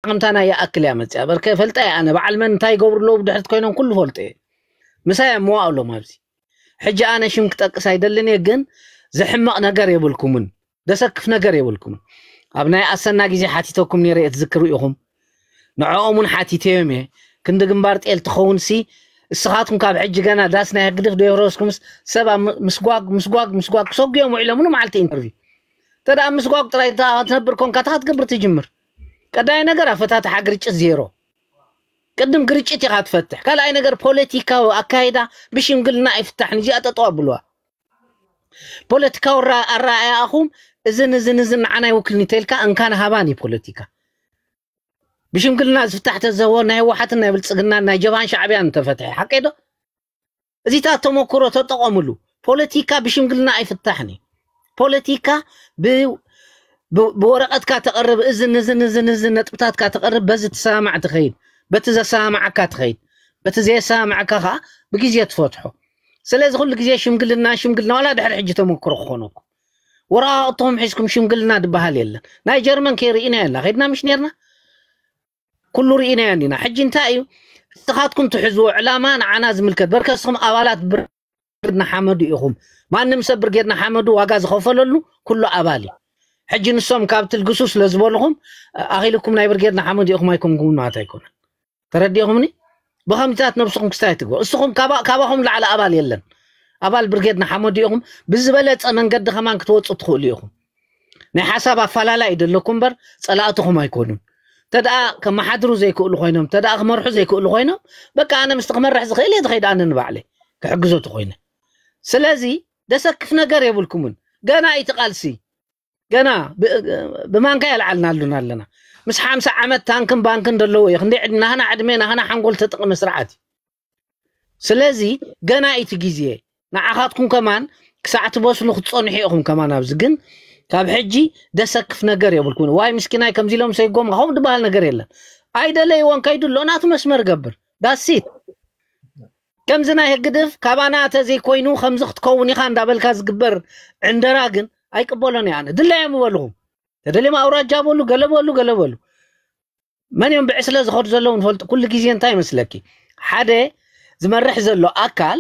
ዓቕምታና ይኣክል እያ መፅያ። በርከ ፈልጠ እየ ኣነ። በዓል መን እንታይ ይገብሩ ኣለዉ ብድሕሪት ኮይኖም ኩሉ ፈልጠ እየ። ምሳይ እሞ ኣለዎም ኣብዚ። ሕጂ ኣነ ሽም ክጠቅስ ኣይደልን እየ፣ ግን ዝሕመቕ ነገር የብልኩምን፣ ዘሰክፍ ነገር የብልኩምን። ኣብ ናይ ኣሰና ግዜ ሓቲተኩም ነይረ እየ፣ ትዝክሩ ኢኹም። ንዕኦም እውን ሓቲተዮም እየ። ክንዲ ግንባር ጤል ትኸውን ሲ፣ እስኻትኩም ካብ ሕጂ ገና ዳስ ናይ ህግድፍ ዶ የፍረስኩምስ፣ ሰብ ኣብ ም-፣ ምስጓግ፣ ምስጓግ፣ ምስጓግ ክሰጉ እዮም ውዒሎም፣ ምኑ መዓልቲ ኢንተርቪው። እንተ ደኣ ምስጓግ ጥራይ እታ ትነብር ኮንካ፣ እታ ክትገብር ትጅምር። ቀዳይ ነገር ኣፈታትሓ ግርጭት ዜሮ። ቅድም ግርጭት ኢኻ ትፈትሕ። ካልኣይ ነገር ፖለቲካዊ ኣካይዳ ብሽምግልና ኣይፍታሕን። እዚኣ ጠጠው ኣብልዋ። ፖለቲካዊ ኣራ-፣ ኣረኣእያኹም እዝን እዝን እዝን ንዓና ይውክልኒ ተልካ እንካን ሃባን እዩ ፖለቲካ። ብሽምግልና ዝፍታሕ ተዘዎ ናይ ህወሓትን ናይ ብልጽግናን ናይ ጀብሃን ሻዕብያን እንተፈትሐ ሓቀይ ዶ? እዚታት ተመክሮ ተጠቐምሉ። ፖለቲካ ብሽምግልና ኣይፍታሕን እዩ። ፖለቲካ ብ-፣ ብ-፣ ብወረቐትካ ተቕርብ፣ እዝን እዝን እዝን እዝን ነጥብታትካ ተቕርብ፣ በዚ ትሰማማዕ ትኸይድ፣ በቲ ዘሰማማዓካ ትኸይድ፣ በቲ ዘየሰማማዓካ ኸዓ ብግዜ ትፈትሖ። ስለዚ ኩሉ ግዜ ሽምግልና፣ ሽምግልና፣ ዋላ ድሕሪ ሕጂ ተመክሮ ክኾነኩም። ወረቓቕትኹም ሒዝኩም ሽምግልና ዝበሃል የለን። ናይ ጀርመን ከይርኢና የላ፣ ኸይድና ምሽ ነርና? ኩሉ ርኢናዮ እንዲና። ሕጂ እንታይ እዩ? ንስኻትኩም ትሕዝዎ ዕላማ ንዓና ዝምልከት፣ በርከ ንስኹም ኣባላት ብርጌድ ንሓመዱ ኢኹም። ማንም ሰብ ብርጌድ ንሓመዱ ዋጋ ዝኸፈለሉ ኩሉ ኣባል እዩ። ሕጂ ንሶም ካብ ትልግሱ ስለ ዝበልኹም፣ ኣኺልኩም ናይ ብርጌድ ንሓመዱ ኢኹም ኣይኮንኩምን ማለት ኣይኮነን። ተረዲእኹምኒ? ብኸምዚታት ነብስኹም ክስታይ ትግበሩ። እስኹም ካባ-፣ ካባኹም ላዕሊ ኣባል የለን። ኣባል ብርጌድ ንሓመዱ ኢኹም። ብዝበለጸ መንገዲ ከማን ክትወጹ ትኽእሉ ኢኹም። ናይ ሓሳብ ኣፈላላይ እዩ ዘለኩም እምበር ጸላእትኹም ኣይኮኑን። እንተ ደኣ ከመሓድሩ ዘይክእሉ ኮይኖም፣ እንተ ደኣ ክመርሑ ዘይክእሉ ኮይኖም፣ በቃ ኣነ ምስቲ ክመርሕ ዝኽእል እየ ዝኸይድ ኣነ ንባዕለይ ክሕግዞ ተኾይነ። ስለዚ ደሰክፍ ነገር የብልኩምን። ገና እዩ እቲ ቃልሲ። ገና ብ-፣ ብማንካ የልዓልናሉን ኣለና። ምስ ሓምሳ ዓመት ታንክን ባንክን ዘለዎ እዩ። ክንደይ ዕድ-፣ ናህና ዕድመ፣ ናህና ሓንጎል ተጠቕመ ስርዓት እዩ። ስለዚ ገና እዩ እቲ ግዜ። ንዓኻትኩም ከማን ክሳዕ ትበስሉ ክትጸንሑ ኢኹም ከማን ኣብዚ። ግን ካብ ሕጂ ደሰክፍ ነገር የብልኩም። ዋይ ምስኪናይ ከምዚ ኢሎም ሰይጎም፣ ከምኡ ዝበሃል ነገር የለን። ኣይደለይዎን ከይዱ ኣሎ፣ ናቱ መስመር ገብር። ዳሲት። ከምዚ ናይ ህግድፍ ካባና ተዘይኮይኑ ከምዚ ክትከውን ኢኻ እንዳበልካ ዝግበር ዕንደራ ግን ኣይቅበሎን እየ ኣነ። ድላዮም በልኹም። ተደልዮም ኣውራጃ በሉ፣ ገለ በሉ፣ ገለ በሉ። መን እዮም ብዕስለ ዝኸዱ ዘለዉ ንፈልጡ። ኩሉ ግዜ እንታይ ይመስለኪ? ሓደ ዝመርሕ ዘሎ ኣካል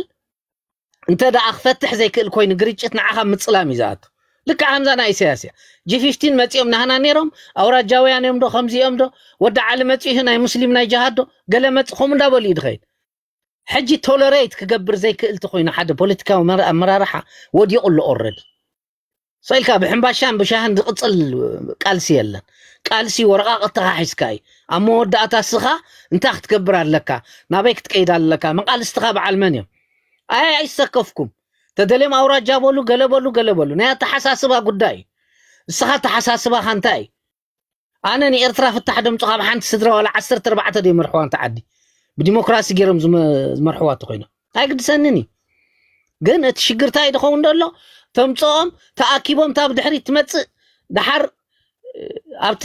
እንተ ደኣ ክፈትሕ ዘይክእል ኮይኑ ግርጭት ንዓኻ ምጽላም እዩ ዝኣቱ። ልክዕ ከምዛ ናይ ኢሳያስ እያ። ጂ ፊፍቲን መጺኦም ናህና ነይሮም፣ ኣውራጃውያን እዮም ዶ፣ ከምዚ እዮም ዶ፣ ወዲ ዓሊ መጺኡ ናይ ሙስሊም ናይ ጅሃድ ዶ፣ ገለ መጽ-፣ ከምኡ እንዳበሉ እዩ ዝኸይድ። ሕጂ ቶለሬት ክገብር ዘይክእል እንተኾይኑ ሓደ ፖለቲካዊ መራ-፣ ኣመራርሓ ወዲቑ ኣሎ ኦልረዲ። ስቕ ኢልካ ብሕምባሻን ብሻህን ዝቕጽል ቃልሲ የለን። ቃልሲ ወረቓቕትኻ ሒዝካ እዩ። ኣብ መወዳእታ እስኻ እንታይ ክትገብር ኣለካ? ናበይ ክትከይድ ኣለካ? መቓልስትኻ በዓል መን እዮም? ኣይ ኣይሰከፍኩም። ተደልዮም ኣውራጃ በሉ፣ ገለ በሉ፣ ገለ በሉ። ናይ ኣተሓሳስባ ጉዳይ እዩ። እስኻ ኣተሓሳስባኻ እንታይ እዩ? ኣነ ንኤርትራ ፍታሕ ደምጹ ካብ ሓንቲ ስድራ ዋላ ዓሰርተ ኣርባዕተ ዶ ይመርሕዋ እንተ ዓዲ ብዲሞክራሲ ገይሮም ዝመ-፣ ዝመርሕዋ እንተኾይኖም ኣይግድሰንን እዩ። ግን እቲ ሽግር እንታይ ድኸውን ደሎ? ተምጽኦም ተኣኪቦም እታ ብድሕሪት ትመጽእ ደሓር፣ እ፣ ኣብቲ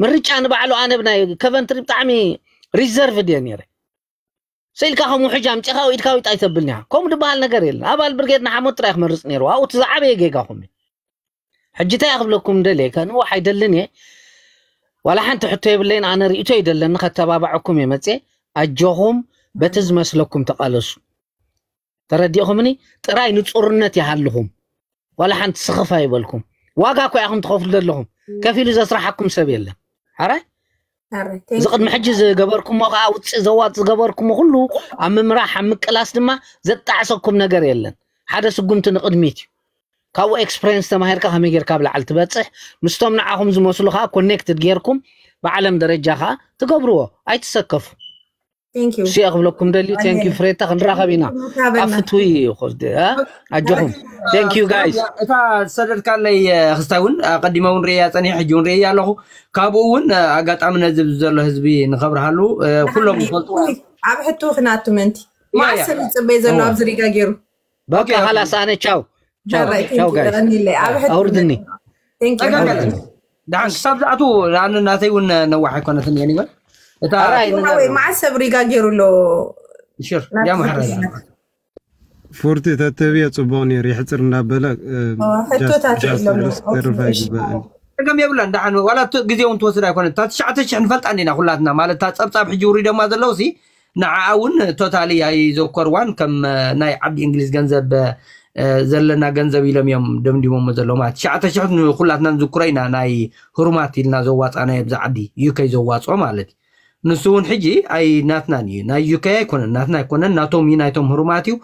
ምርጫ ንባዕሉ ኣነ ብናይ ኮቨንትሪ ብጣዕሚ ሪዘርቭድ እየ ነይረ። ስኢልካ ከም ውሕጅ ኣምጺኻ ኢድካ ዊጥ ኣይተብልኒ ኢኻ። ከምኡ ዝበሃል ነገር የለን። ኣባል ብርጌድ ንሓመዱ ጥራይ ክመርጽ ነይርዎ። ኣብኡ እቲ ዝዓበየ ጌጋኹም እዩ። ሕጂ እንታይ ክብለኩም ደልየ፣ ከንውሕ ኣይደልን እየ። ዋላ ሓንቲ ሕቶ የብለይን፣ ኣነ ርእይቶ እዩ ደለኒ፣ ከተባብዐኩም እየ መጽየ። ኣጆኹም፣ በቲ ዝመስለኩም ተቓለሱ። ተረዲእኹምኒ? ጥራይ ንጹርነት ይሃልኹም። ዋላ ሓንቲ ስኽፍ ኣይበልኩም። ዋጋ እኮ ኢኹም ትኸፍሉ ዘለኹም። ከፊሉ ዘስርሓኩም ሰብ የለን። ሓራይ? ሓራይ፣ እዚ thank you። ቅድሚ ሕጂ ዝገበርኩሞ ከኣ ውጽእ ዘዋጥ ዝገበርኩሞ ኩሉ ኣብ ምምራሕ፣ ኣብ ምቅላስ ድማ ዘጣዕሰኩም ነገር የለን። ሓደ ስጉምቲ ንቕድሚት እዩ። ካብኡ ኤክስፐሪየንስ ተማሂርካ ከመይ ጌርካ ኣብ ላዕሊ ትበጽሕ፣ ምስቶም ንዓኹም ዝመስሉ ከኣ ኮኔክትድ ጌርኩም ብዓለም ደረጃ ከኣ ትገብርዎ። ኣይትሰከፉ። Thank you። እሱ እየ ክብለኩም ደልዩ። Thank you ፍሬታ፣ ክንራኸብ ኢና። ንራኸበና። ኣብ ፍትዊ እዩ፣ እ? ኣጆኹም። Thank you guys። እታ ዝሰደድካለይ፣ እ፣ ክስታይ እውን ኣቐዲመ እውን ርእያ ጸኒሐ፣ ሕጂ እውን ርእያ ኣለኹ። ካብኡ እውን፣ እ፣ ኣጋጣሚ ነዚ ዘሎ ህዝቢ ንኸብርሃሉ፣ እ፣ ኩሎም ንዓኒ ዝፈልጡ። ኣብ ሕቶ ክናቱ ምእንቲ። ያ፣ ያ። ማዕሰብ ይጽበይ ዘሎ እዋ። ኣብዚ ሪጋ ገይሩ። በቃ ኦኬ፣ ኦኬ። ኻላስ ኣነ ቻው። ቻው፣ ቻው ጋይስ። የቐኒለይ። ኣብ ሕቶ ኣውርድኒ። Thank you። ኣውርድኒ። ደሓን ክሳብ ዝኣትዉ፣ ኣነ ናተይ እውን ነዋሕ ኣይኮነትን እየ፣ ይበል። እታ ኣራይ፣ ንገር። መዓስ ሰብ ሪጋ ገይሩ ኣሎ? ሽር፣ ናብቲ ያ መሓረዝ። ፎርቲ ተተብዮ ጽቡቕ ነይሩ፣ ይሕጽር እንዳበለ፣ እ፣ ኦ፣ ሕቶታት ጃስት የብሎም። ርስ-፣ ኦኬ፣ ርፋ እሺ። ይግባእ። ጸገም የብላን። ደሓን ዋላ እቲ ግዜ እውን ትወስድ ኣይኮነት። እታ ትሽዓተ ሽሕ ንፈልጣ እንዲና ኩላትና፣ ማለት እታ ጸብጻብ ሕጂ ውሪዶማ ዘለውሲ ንዓኣ እውን ቶታሊ ኣይዘከርዋን። ከም ናይ ዓዲ እንግሊዝ ገንዘብ ዘለና ገንዘብ ኢሎም እዮም ደምዲሞሞ ዘለዉ። ማለት ትሽዓተ ሽሕ ንኩላትና ንዝክሮ ኢና፣ ናይ ህሩማት ኢልና ዘዋጻናዮ ብዛ ዓዲ ዩከይ ዘዋጽኦ ማለት እዩ። ንሱ እውን ሕጂ ኣይ ናትናን እዩ፣ ናይ ዩከይ ኣይኮነን፣ ናትና ኣይኮነን፣ ናቶም እዩ፣ ናይቶም ህሩማት እዩ።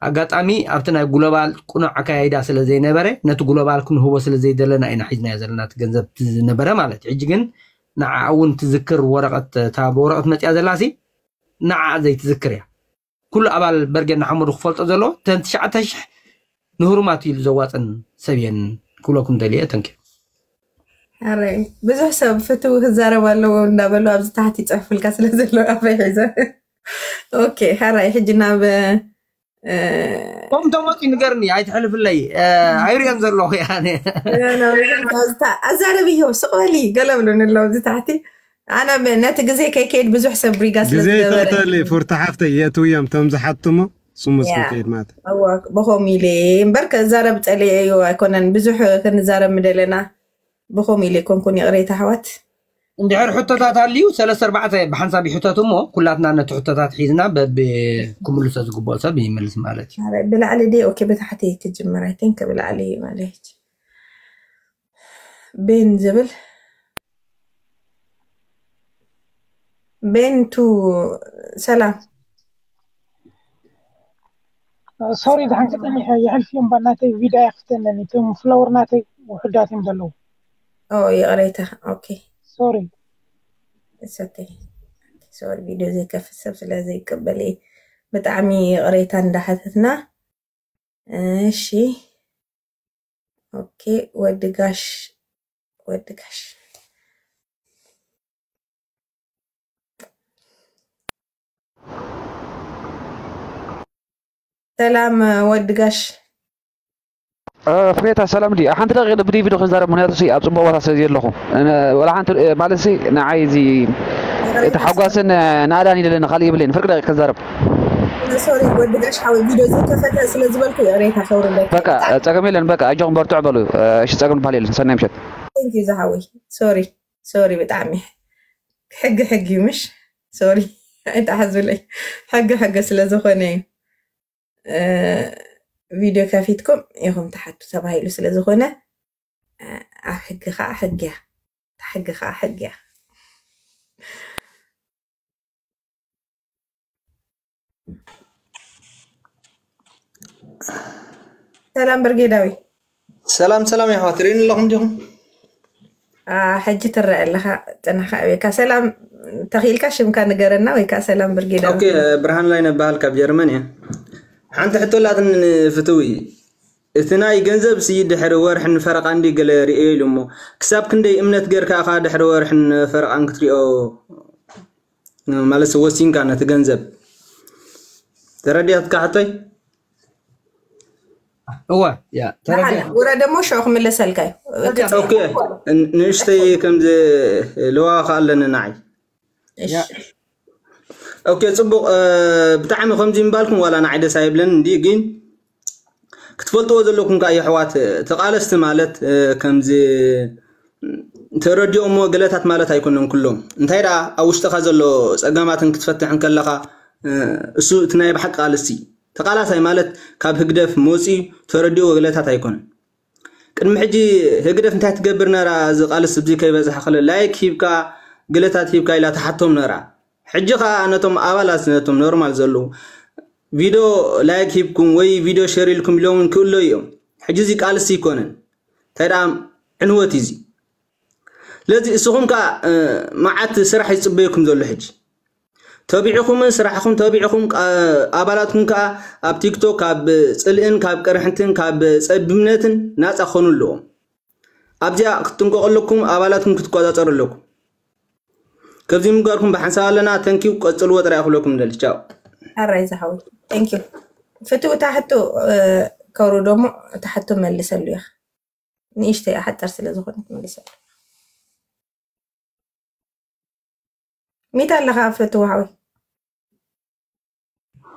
ኣጋጣሚ ኣብቲ ናይ ግሎባል ቅኑዕ ኣካያይዳ ስለ ዘይነበረ፣ ነቲ ግሎባል ክንህቦ ስለ ዘይደለና ኢና ሒዝናዮ ዘለና እቲ ገንዘብ፣ እቲ ዝነበረ ማለት እዩ። ሕጂ ግን ንዓ እውን ትዝክር ወረቐት፣ እታ ብወረቐት መፅያ ዘላሲ ንዓ ዘይትዝክር እያ። ኩሉ ኣባል በርጌድ ንሓመዱ ክፈልጦ ዘለዎ እተን ትሽዓተ ሽሕ ንህሩማት ኢሉ ዘዋፅን ሰብ እየን ክብለኩም ደልየ። ተንኪ ኣረ ብዙሕ ሰብ ፍትው ክዛረብ ኣለዎ እንዳበሉ ኣብዚ ታሕቲ ይፅሕፉልካ ስለ ዘለዉ ኣፈይ ሒዘ። ኦኬ፣ ሓራይ ሕጂ ናብ ቶም ተመፂ ንገርኒ፣ ኣይትሕልፍለይ። ኣይሪኦን ዘለኹ። ኣዛረብዮ ስቕ በሊ ገለ ብሉኒ ኣለዉ ኣብዚ ታሕቲ። ኣነ ነቲ ግዜ ከይከይድ ብዙሕ ሰብ ሪጋ ስለ ግዜ ዝገበረ ተተሊ ፉርቲ ሓፍተይ የእትውዮም ቶም ዝሓትሞ ስሙዝ ያ። ክንከይድ ማለት እወ ብኸም ኢለ እምበር ከዛረብ ፀሊኤ እዩ ኣይኮነን ብዙሕ ክንዛረብ ምደለና ብኸም ኢለ ኮንኩን ይቕሬታ ኣሕዋት እንድሕር ሕቶታት ኣልዩ ሰለስተ ኣርባዕተ ብሓንሳብ ይሕተቱ እሞ ኩላትና ነቲ ሕቶታት ሒዝና በብ ክምልሶ ዝግብኦ ሰብ ይመልስ ማለት እዩ። ብላዕሊ ዲ ኦኬ ብታሕቲ ክጅምር ኣይ ቲንክ ብላዕሊ ማለት ቤን ዝብል ቤን ቱ ሰላም ሶሪ ድሓን ክጠሚሐ የሕልፍዮም ባናተይ ቪዳ ያክፍተነኒ እቶም ፍሎወር ናተይ ውሕዳት እዮም ዘለዉ ኦ ይቕሬታ ኦኬ ሶሪ ሰተይ ሶሪ ቪድዮ ዘይከፍት ሰብ ስለ ዘይቀበል እየ ብጣዕሚ ይቕሬታ እንዳሓተትና እሺ ኦኬ ወዲ ጋሽ ወዲ ጋሽ ሰላም ወዲ ጋሽ ፍሬታ ሰላም ድዩ? ሓንቲ ደቂቕ ብዲቪዶ ክንዛረብ ምክንያቱ ሲ ኣብ ፅቡቅ ቦታ ስለ ዘለኹ ወላ ሓንቲ ማለት ሲ ንዓይ እዚ እቲ ሓጓስን ናእዳን ይደለኒ ካልእ ይብለይን ፍርቂ ደቂቕ ክንዛረብ ሶሪ ወዲ ጋሽ ሓወይ ቪድዮ ዘይከፈተ ስለ ዝበልኩ ይቕሬታ ከውርደካ በቃ ጸገም የለን በቃ ኣጆኹም በርትዑ በሉ እሺ ጸገም ዝበሃል የለን ሰናይ ምሸት Thank you ዝሓወይ ሶሪ ሶሪ ብጣዕሚ ሕጊ ሕጊ እዩ ምሽ ሶሪ ኣይተሓዙለይ ሕጊ ሕጊ ስለ ዝኾነ እዩ ቪድዮ ከፊትኩም ኢኹም ትሓቱ ተባሂሉ ስለ ዝኾነ ኣብ ሕጊ ከዓ ሕጊ እያ ሕጊ ከዓ ሕጊ እያ ሰላም ብርጌዳዊ ሰላም ሰላም የሕዋት ርእዩኒ ኣለኹም ዲኹም ሕጂ ትረአ ኣለኻ ጥንኻ ኣበካ ሰላም ተኺኢልካ ሽምካ ንገረና ወይ ከዓ ሰላም ብርጌዳ ኦኬ ብርሃን ላይ ነባሃል ካብ ጀርመን እየ ሓንቲ ሕቶ ላትን ፍትዊ እቲ ናይ ገንዘብ ሲ ድሕሪ ወርሕን ፈረቓ እንዲ ገለ ርእዮ ኢሉ እሞ ክሳብ ክንደይ እምነት ገርካ ኢኻ ድሕሪ ወርሕን ፈረቓን ክትሪኦ ማለት ወሲንካ ነቲ ገንዘብ ተረዲኣትካ ሕቶይ እወ ያ ተረዲኣ ውረደ እሞ ሽዑ ክምለሰልካ እዩ ኦኬ ንእሽተይ ከምዚ ልዋኻ ኣለኒ ንዓይ ኦኬ ፅቡቅ ብጣዕሚ ከምዚ ምባልኩም ዋላ ንዓይ ደስ ኣይብለን እንዲ ግን ክትፈልጥዎ ዘለኩም ከዓ የሕዋት ተቃለስቲ ማለት ከምዚ ተረዲኦሞ ገለታት ማለት ኣይኮነን ኩሎም እንታይ ደኣ ኣብ ውሽጥኻ ዘሎ ፀገማትን ክትፈትሕ እንከለኻ እሱ እቲ ናይ ብሓቂ ቃልሲ ተቃላሳይ ማለት ካብ ህግደፍ መፂኡ ተረዲኦ ገለታት ኣይኮነን ቅድሚ ሕጂ ህግደፍ እንታይ ትገብር ነራ እዚ ቃልስ እዚ ከይበዝሕ ከለ ላይክ ሂብካ ገለታት ሂብካ ኢላ ትሓቶም ነራ ሕጂ ከዓ ነቶም ኣባላት ነቶም ኖርማል ዘለዉ ቪድዮ ላይክ ሂብኩም ወይ ቪድዮ ሸር ኢልኩም ኢሎም ክእሎ እዮም ሕጂ እዚ ቃልሲ ይኮነን እንታይ ደኣ ዕንወት እዩ እዚ ስለዚ እስኹም ከዓ መዓት ስራሕ ይፅበየኩም ዘሎ ሕጂ ተቢዕኹምን ስራሕኹም ተቢዕኹም ኣባላትኩም ከዓ ኣብ ቲክቶክ ካብ ፅልእን ካብ ቅርሕንትን ካብ ፀቢብነትን ናፃ ክኾኑ ኣለዎም ኣብዚኣ ክትጥንቀቑ ኣለኩም ኣባላትኩም ክትቆፃፀሩ ኣለኩም ከዚ ምግባርኩም ብሓንሳብ ኣለና ተንኪው ቀፅልዎ ጥራይ ክብለኩም ደሊ ቻው ኣራይ ዝሓወይ thank you ፍትው እታ ሕቶ ከውርዶ እሞ እታ ሕቶ መልሰሉ ኢኻ ንእሽተይ ሓፀር ስለ ዝኾነት መልሰሉ ሚታ ኣለኻ ፍትው ሓወይ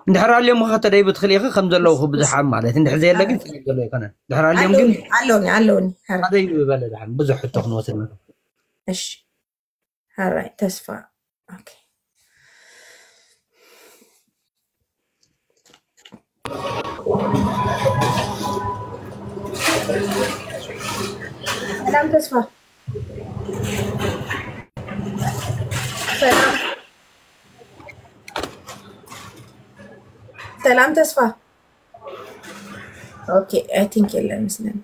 እንድሕር ኣልዮም ኸ ተደይ ብትኽእል ኢኺ ከም ዘለዉ ብዙሓት ማለት እንድሕር ዘየለ ግን ጸገም ዘሎ ኣይኮነን። እንድሕር ኣልዮም ግን ኣለውኒ ኣለውኒ ኣለውኒ። ሐረ ሓደ ይበለ ደሓን ብዙሕ ሕቶ ክንወስድ ንኽእል። እሺ ሐራይ ተስፋ። ኦኬ። ሰላም ተስፋ። ሰላም ሰላም ተስፋ። ኦኬ፣ I think የለን መስለኒ።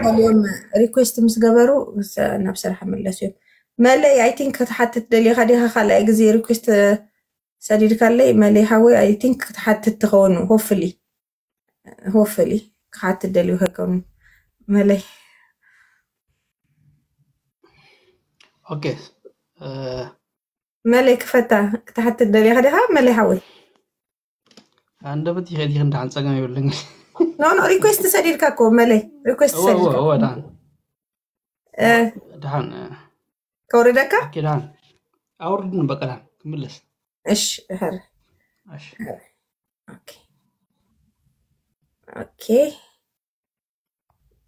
ገሊኦም ሪኩዌስት ምስ ገበሩ ሰ- ናብ ስራሕ ምለሱ እዮም። መለይ፣ I think ክትሓትት ደሊኻ ዲኻ? ካልኣይ ግዜ ሪኩዌስት ሰዲድካለይ መለይ ሓወይ። I think ክትሓትት ትኸውን። Hopefully, hopefully ክሓትት ደልዩ ከይከውን መለይ። ኦኬ። እ፣ መለይ ክፈታ ክትሓትት ደሊኻ ዲኻ መለይ ሓወይ? ኣንደበት ይኸድ ይኸን ደሓን ጸገም የብልን። ኖ ኖ፣ ሪኩዌስት ሰዲድካ እኮ መለይ፣ ሪኩዌስት እወ እወ ሰዲድካ እወ ደሓን እ፣ ደሓን እ፣ ከውርደካ። ኦኬ ደሓን ኣውርድን በቃ ደሓን ክምለስ። እሺ ሐረ እሺ ኦኬ ኦኬ።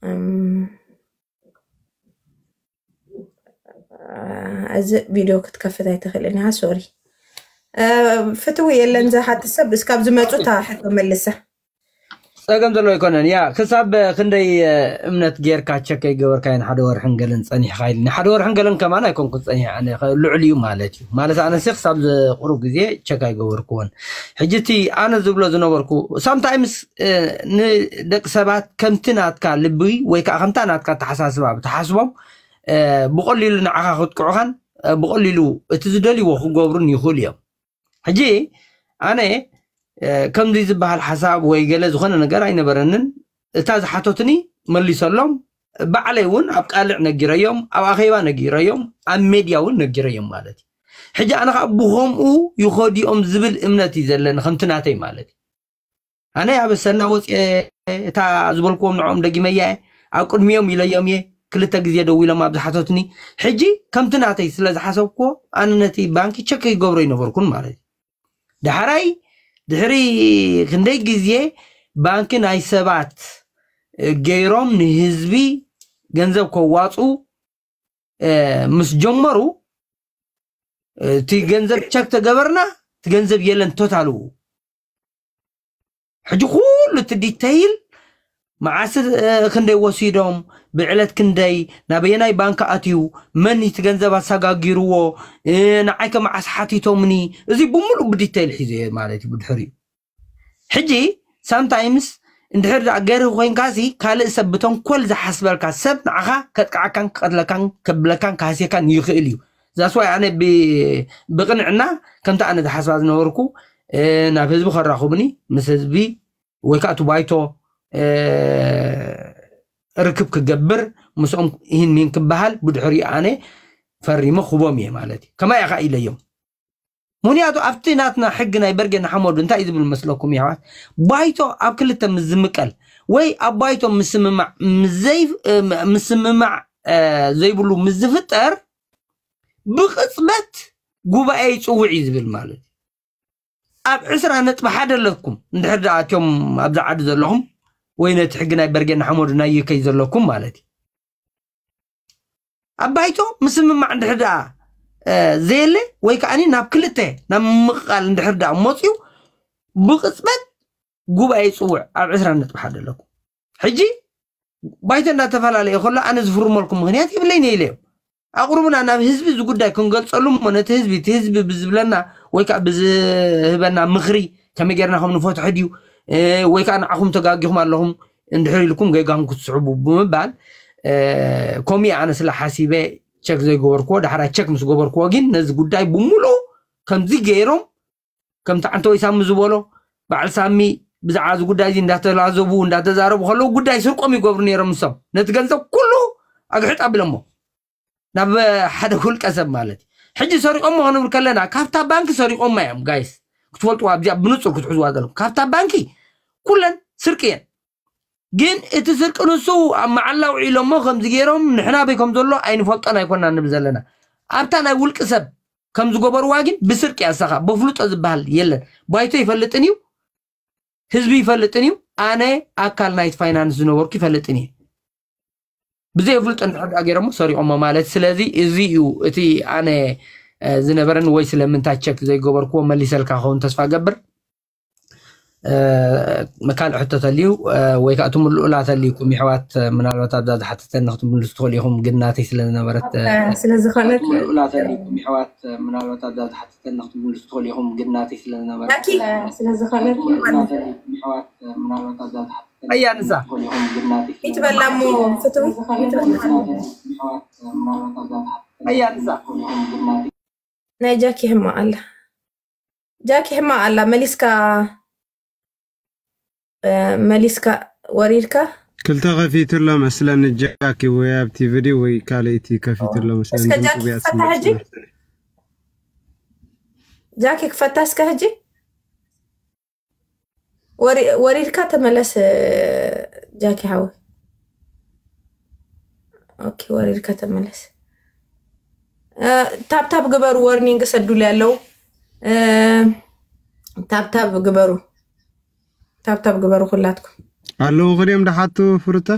እም፣ እዚ ቪድዮ ክትከፍት ኣይትኽእልን ኢኻ። ሶሪ። እ፣ ፍትዊ የለን ዝሓትት ሰብ እስካብ ዝመፁ እታ ሕቶ መልሳ። ጸገም ዘሎ ኣይኮነን። ያ ክሳብ ክንደይ እ፣ እምነት ጌርካ ቸክ ኣይገበርካዮን ሓደ ወርሕን ገለን ጸኒሕካ ኢልኒ። ሓደ ወርሕን ገለን ከማን ኣይኮንኩን ጸኒሐ ኣነ ከ- ልዑል እዩ ማለት እዩ። ማለት ኣነሲ ክሳብ ዝቕሩብ ግዜ ቸክ ኣይገበርክዎን። ሕጂ እቲ ኣነ ዝብሎ ዝነበርኩ ሳምታይምስ ንደቂ ሰባት ከምቲ ናትካ ልቢ ወይ ከዓ ከምታ ናትካ ተሓሳስባ ብትሓስቦም እ፣ ብቐሊሉ ንዓኻ ክጥቅዑኻን እ፣ ብቐሊሉ እቲ ዝደልይዎ ክገብሩን ይኽእሉ እዮም። ሕጂ ኣነ እ፣ ከምዚ ዝበሃል ሓሳብ ወይ ገለ ዝኾነ ነገር ኣይነበረንን። እታ ዝሓተትኒ መሊሰሎም። ባዕለይ እውን ኣብ ቃልዕ ነጊረዮም፣ ኣብ ኣኼባ ነጊረዮም፣ ኣብ ሜድያ እውን ነጊረዮም ማለት እዩ። ሕጂ ኣነ ከዓ ብኸምኡ ይኸዲኦም ዝብል እምነት እዩ ዘለኒ ከምቲ ናተይ ማለት እዩ። ኣነ ኣብ ሰና ወፅየ እታ ዝበልክዎም ንዕኦም ደጊመያ እየ። ኣብ ቅድሚኦም ኢለዮም እየ። ክልተ ግዜ ደው ኢሎም ኣብ ዝሓተትኒ ሕጂ ከምቲ ናተይ ስለ ዝሓሰብክዎ ኣነ ነቲ ባንኪ ቸክ ይገብሮ ይነበርኩን ማለት እዩ። ዳሕራይ ድሕሪ ክንደይ ግዜ ባንኪ ናይ ሰባት እ፣ ገይሮም ንህዝቢ ገንዘብ ከዋፁ እ፣ ምስ ጀመሩ እ፣ እቲ ገንዘብ ቸክ ተገበርና እቲ ገንዘብ የለን ቶታሉ። ሕጂ ኩሉ እቲ ዲተይል መዓስ እ፣ ክንደይ ወሲዶም ብዕለት ክንደይ ናበየናይ ባንክ ኣትዩ መን እቲ ገንዘብ ኣሰጋጊርዎ እ፣ ንዓይከ መዓስ ሓቲቶምኒ እዚ ብምሉእ ብዲተይል ሒዘ ማለት እዩ ብድሕሪኡ። ሕጂ ሳምታይምስ እንድሕር ደኣ ገርህ ኮይንካሲ ካልእ ሰብ ብተንኮል ዝሓስበልካ ሰብ ንዓኻ ከጥቅዓካን ክቐትለካን ከብለካን ክሃስየካን ይኽእል እዩ። ዛስዋይ ኣነ ብ- ብቕንዕና ከምቲ ኣነ ዝሓስባ ዝነበርኩ እ፣ ናብ ህዝቢ ከራኽቡኒ ምስ ህዝቢ ወይ ከዓ እቲ ባይቶ እ፣ ርክብ ክገብር ምስኦም ይህን ሚን ክበሃል ብድሕሪኡ ኣነ ፈሪመ ክቦም እየ ማለት እዩ። ከማይ ኢኻ ኢለዮም። ምክንያቱ ኣብቲ ናትና ሕጊ ናይ በርጌ ንሓመዱ እንታይ እዩ ዝብል መስለኩም የሕዋት? ባይቶ ኣብ ክልተ ምስ ዝምቀል ወይ ኣብ ባይቶ ምስምማዕ ምስ ዘይ- እ፣ ምስምማዕ እ፣ ዘይብሉ ምስ ዝፍጠር ብቕፅበት ጉባኤ ይፅውዕ እዩ ዝብል ማለት እዩ። ኣብ ዕስራ ነጥቢ ሓደ ኣለኩም እንድሕር ደኣ እትዮም ኣብዚ ዓዲ ዘለኹም ወይ ነቲ ሕጊ ናይ በርጌ ንሓመዱ ናይ ዩከይ ዘለኩም ማለት እዩ። ኣብ ባይቶ ምስምማዕ እንድሕር ደኣ እ፣ ዘየለ ወይ ከዓ ናብ ክልተ ናብ ምምቕቓል እንድሕር ደኣ መፅዩ ብቕፅበት ጉባኤ ይፅውዕ ኣብ ዕስራ ነጥቢ ሓደ ኣለኩም። ሕጂ ባይቶ እንዳተፈላለየ ከሎ ኣነ ዝፍርመልኩም ምክንያት የብለይን ኢለ እዮም ኣቕርቡና ናብ ህዝቢ እዚ ጉዳይ ክንገልፀሉ እሞ ነቲ ህዝቢ እቲ ህዝቢ ብዝብለና ወይ ከዓ ብዝህበና ምክሪ ከመይ ጌርና ከም ንፈትሖ ድዩ እ፣ ወይ ከዓ ንዓኹም ተጋጊኹም ኣለኹም እንድሕር ኢልኩም ጌጋኹም ክትስዕቡ ብምባል እ፣ ከምኡ ኣነ ስለ ሓሲበ ቸክ ዘይገበርክዎ ዳሕራይ ቸክ ምስ ገበርክዎ ግን ነዚ ጉዳይ ብምሉኡ ከምዚ ገይሮም ከምቲ ዓንተወይ ሳሚ ዝበሎ በዓል ሳሚ ብዛዕባ እዚ ጉዳይ እዚ እንዳተላዘቡ እንዳተዛረቡ ከለዉ ጉዳይ ስርቆም ይገብሩ ነይሮም ንሶም ነቲ ገንዘብ ኩሉ ኣግሕጥ ኣቢሎሞ ናብ ሓደ ውልቀ ሰብ ማለት እዩ ሕጂ ሰሪቆሞ ክንብል ከለና ካብታ ባንኪ ሰሪቆማ እዮም ጋይስ ክትፈልጥዋ ኣብዚኣ ብንፁር ክትሕዝዋ ዘለኩም ካብታ ባንኪ ኩለን ስርቂ እየን ግን እቲ ስርቂ ንሱ ኣብ መዓላ ውዒሎሞ ከምዚ ገይሮም ንሕና በይ ከም ዘሎ ኣይንፈልጦን ኣይኮና ንብል ዘለና ኣብታ ናይ ውልቂ ሰብ ከም ዝገበርዋ ግን ብስርቂ ኣሳኻ በፍልጦ ዝበሃል የለን። ባይቶ ይፈልጥን እዩ፣ ህዝቢ ይፈልጥን እዩ። ኣነ ኣካል ናይቲ ፋይናንስ ዝነበርኩ ይፈልጥን እዩ። ብዘይ ፍልጦ እንድሕር ደኣ ገይሮሞ ሰሪቖሞ ማለት። ስለዚ እዚ እዩ እቲ ኣነ ዝነበረን ወይ ስለምንታይ ቸክ ዘይገበርክዎ መሊሰልካ ክኸውን ተስፋ ገብር። ካልእ ሕቶ ተልዩ ወይ ከዓ ትምልኡላ ተልዩኩም ይሕዋት፣ ምናልባት ኣብዛ ዝሓተተኒ ክትምልሱ ትኽእሉ ኢኹም፣ ግን ናተይ ስለ ዝነበረት ስለ ዝኾነት ትምልኡላ ተልዩኩም ይሕዋት፣ ምናልባት ኣብዛ ዝሓተተኒ ክትምልሱ ትኽእሉ ኢኹም፣ ግን ናተይ ስለ ዝነበረት ስለ ዝኾነት ኣያ ንሳ ይትበላ እሞ ፍትው ኣያ ንሳ ናይ ጃኪ ሕማቕ ኣላ። ጃኪ ሕማቕ ኣላ። መሊስካ መሊስካ ወሪድካ ክልተ ከፊትሎ መስለኒ ጃኪ፣ ወይ ኣብቲ ቪድዮ ወይ ካልእቲ ከፊትሎ መስለኒ። እስከ ጃኪ ክፈታ ሕጂ። ጃኪ ክፈታ እስከ ሕጂ። ወሪድካ ተመለስ ጃኪ ሓወይ። ኦኬ፣ ወሪድካ ተመለስ። ታብታብ ግበሩ፣ ወርኒንግ ሰዱል ያለው ታብታብ ግበሩ፣ ታብታብ ግበሩ ኩላትኩም። ኣለዉ ክድዮም ደሓቱ ፍሩተ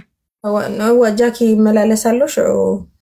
እዋ ጃኪ ይመላለስ ኣሎ ሽዑ